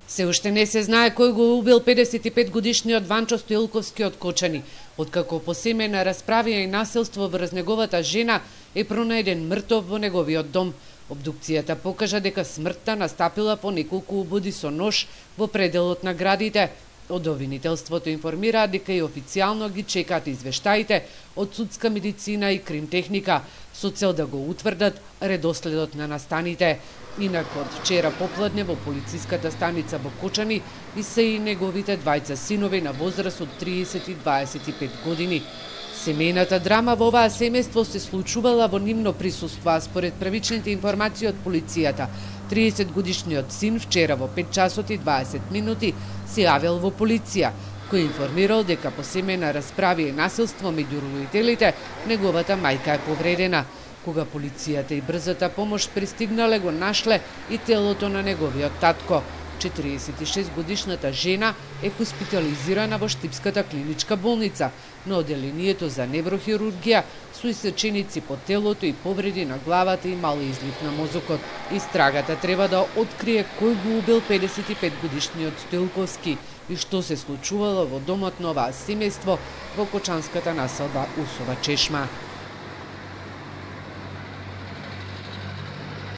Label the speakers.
Speaker 1: Се уште не се знае кој го убил 55 годишниот Ванчо Стоилковски од Кочани, откако по семејна расправија и насилство врз неговата жена е пронајден мртов во неговиот дом. Обдукцијата покажа дека смртта настапила по неколку убоди со нож во пределот на градите. Од обвинителството информираат дека и официјално ги чекаат извештаите од судска медицина и кримтехника со цел да го утврдат редоследот на настаните. Инаку од вчера попладне во полициската станица во Кочани и се и неговите двајца синови на возраст од 30 и 25 години. Семејната драма во оваа семејство се случувала во нивно присуство, а според првичните информации од полицијата, 30-годишниот син вчера во 5 часот и 20 минути се јавил во полиција, кој информирал дека по семејна расправа и насилство меѓу родителите, неговата мајка е повредена. Кога полицијата и брзата помош пристигнале, го нашле и телото на неговиот татко. 46-годишната жена е хоспитализирана во Штипската клиничка болница на оделението за неврохирургија со исеченици по телото и повреди на главата и мал излив на мозокот. Истрагата треба да открие кој го убил 55-годишниот Стоилковски и што се случувало во домот на оваа семејство во кочанската населба Усова Чешма.